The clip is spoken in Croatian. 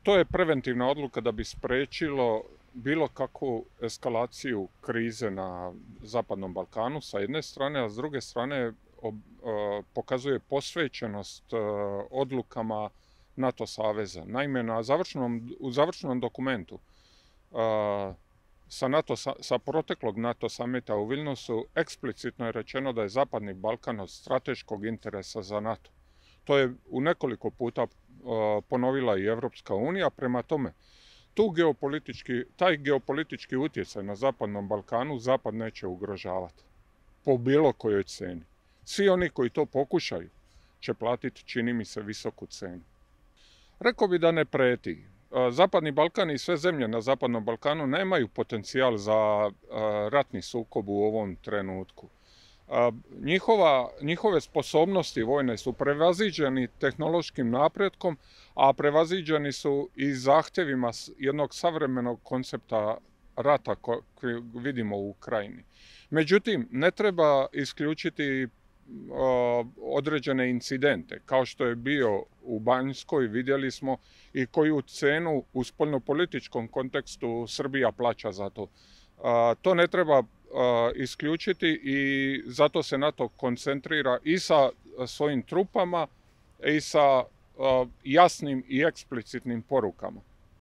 To je preventivna odluka da bi spriječilo bilo kakvu eskalaciju krize na Zapadnom Balkanu sa jedne strane, a s druge strane pokazuje posvećenost odlukama NATO saveza. Naime, u završnom dokumentu sa proteklog NATO samita u Vilnusu eksplicitno je rečeno da je Zapadni Balkan od strateškog interesa za NATO. To je u nekoliko puta ponovila i Europska unija. Prema tome, taj geopolitički utjecaj na Zapadnom Balkanu Zapad neće ugrožavati po bilo kojoj ceni. Svi oni koji to pokušaju će platiti, čini mi se, visoku cenu. Rekao bi da ne prijeti. Zapadni Balkan i sve zemlje na Zapadnom Balkanu nemaju potencijal za ratni sukob u ovom trenutku. Njihove sposobnosti vojne su prevaziđeni tehnološkim napretkom, a prevaziđeni su i zahtjevima jednog savremenog koncepta rata koji vidimo u Ukrajini. Međutim, ne treba isključiti određene incidente, kao što je bio u Banjskoj, vidjeli smo, i koju cenu u spoljnopolitičkom kontekstu Srbija plaća za to. To ne treba isključiti i zato se NATO koncentrira i sa svojim trupama i sa jasnim i eksplicitnim porukama.